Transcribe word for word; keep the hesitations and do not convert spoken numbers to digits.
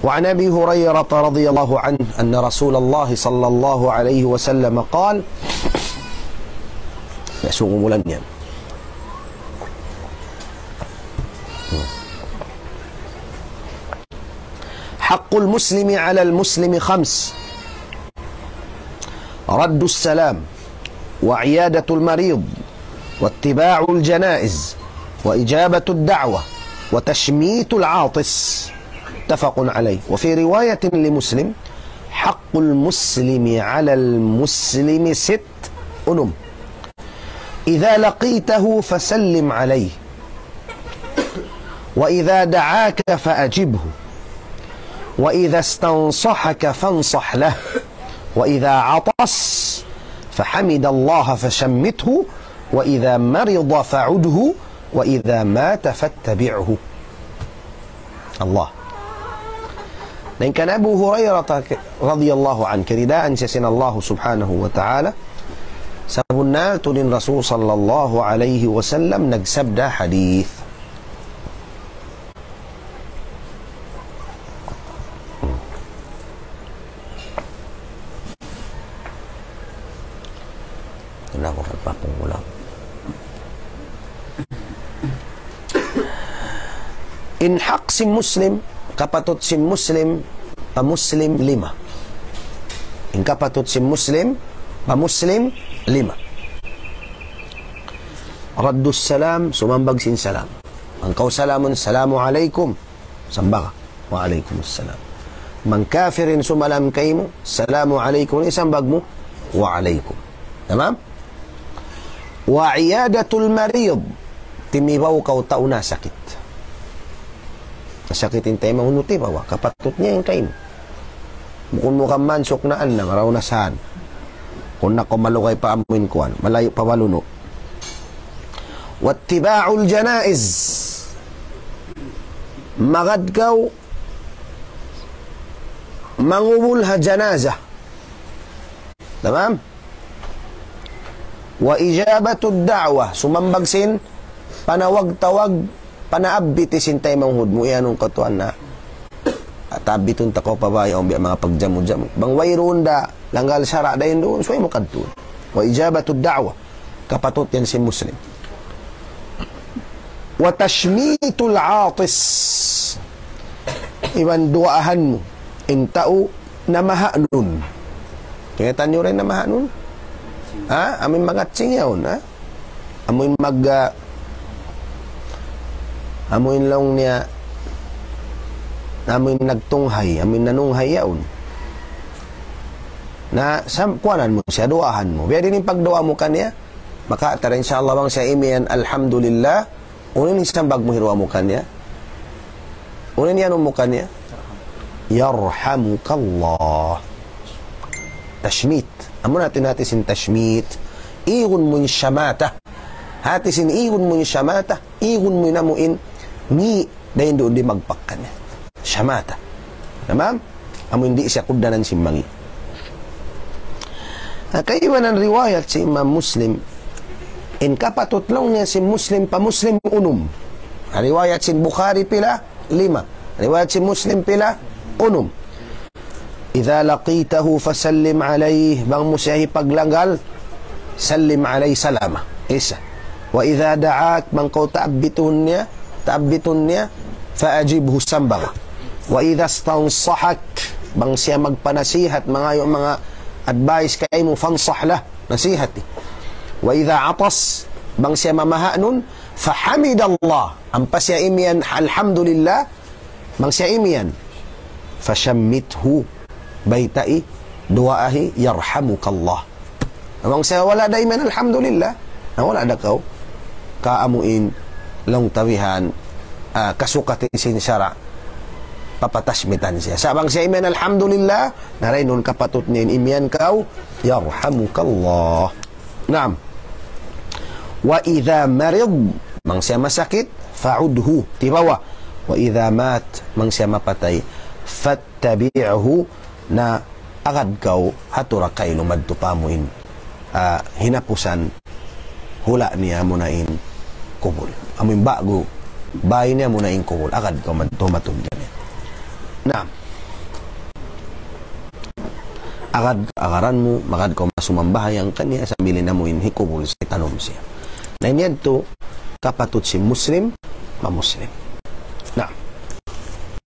وعن أبي هريرة رضي الله عنه أن رسول الله صلى الله عليه وسلم قال، ya, sungguh mulan yan. حق المسلم على المسلم خمس: رد السلام، وعيادة المريض، واتباع الجنائز، وإجابة الدعوة، وتشميت العاطس. متفق عليه. وفي رواية لمسلم: حق المسلم على المسلم ست، unum. إذا لقيته فسلم عليه، وإذا دعاك فأجبه، وإذا استنصحك فانصح له، وإذا عطس فحمد الله فشمته، وإذا مرض فعده، وإذا مات فاتبعه. Allah. Dayn kan Abu Hurairah radhiyallahu anhu, kiyaridaan siya sin Allah subhanahu wa ta'ala, sabunnal tuud in Rasul sallallahu alayhi wasallam nagsabda hadith. Wala' aku kapapungulaw. In hak sin Muslim, kapatut sin Muslim, pa Muslim lima. In kapatut sin Muslim, pa Muslim lima. Raddus salam, sumambag sin salam. Bang kaw salamun, "Salamu alaykum." Sambag ka, "Wa alaykum salam." Bang kafir in sumalam kaymu, "Salamu alaykum." Isambag mu, "Wa alaykum." Tamam? Wa iyadatul marid. Timibaw kaw tau nasakit. Nasakit in taymanghud mu, tibawa. Kapatut niya in kaymu. Bukun mu kamansuk na anna, maraw na saan. Kung na kaw malugay pa amuin kuwan, malayu' pa balunu'. Wattiba'ul janaiz. Magad kaw mangubul ha janaza. Tamam? Wa ijabatud da'wah. Sumambag sin panawag-tawag, panaabit sin taymanghud mu, iyanun kaw tuwan na. At abitun ta kaw pa bay, awn biya' manga pagjamu-jamu. Bang wayruun da, langgal sara' dayn duun, subay mu kadtuun. Wa ijabatud da'wah. Kapatut yan sin Muslim. Wa tashmitul atis. Iban duwaahan mu in tau namahanun. Kingatan niyu ra in namahanun? Ha? Amuin mangatsing yaun, ha? Amuin mag-, ah, amuin laung niya, amuin nagtunghay, amuin nanunghay yaun. Na, sam-, kuwanan mu siya, duwaahan mu. Biya' diin in pagduwaa mu kaniya? Maka tara, insya Allah, bang siya imiyan, "Alhamdulillah," unu in sambag mu hi duwaa mu kaniya? Unu in iyanun mu kaniya? "Yarhamukallah." Tashmit. Amu na in hati sin tashmit. Igun mu in shamata. Hati sin igun mu in shamata. Igun mu in amuin ngi' dayn duun di' magpakkan. Shamata. Tamam? Amu in di' siya kugdanan sin mangi'. Ha, kaibanan riwayat sin Imam Muslim, in kapatut laung niya sin Muslim pa Muslim unum. Ha, riwayat sin Bukhari pila? Lima. Riwayat sin Muslim pila? Unum. إذا لقيته فسلم عليه. Bang mu siya hipaglanggal, sallim alayhi salama. Isa. وإذا دعاك, bang kaw taabitun niya, taabitun niya, فأجبه, sambag. وإذا استنصحك, bang siya magpanasihat, mangayu' manga advice kaymu, فانصح له, nasihati. وإذا عطس, bang siya mamahanun, فحمد الله, ampa siya imiyan, alhamdulillah, bang siya imiyan, فشمته, baytai, duwaahi, يرحمك الله. Bang siya wala' da imiyan, alhamdulillah, na wala' da kaw kaamuin laung ta bihan, ah, kasukati sin sara', papatashmitan siya. Sa' bang siya imiyan, alhamdulillah, na dayn duun kapatut niya in imiyan kaw, يرحمك الله. Naam. وإذا مرض, bang siya masakit, فعده, tibawa. وإذا مات, bang siya mapatay, فاتبعه, na agad kaw ha tura kailu madtu pa amuin, ah, hinapusan hula' niya amuna in kubul. Amuin ba'gu bay niya amuna in kubul. Agad kaw madtu, madtu kaniya. Naam. agad ka agaran mu, magad kaw masumambahayang kaniya, sambil in amu in hikubul sin tanum siya. Na ini yadtu, kapatut sin Muslim, mamuslim.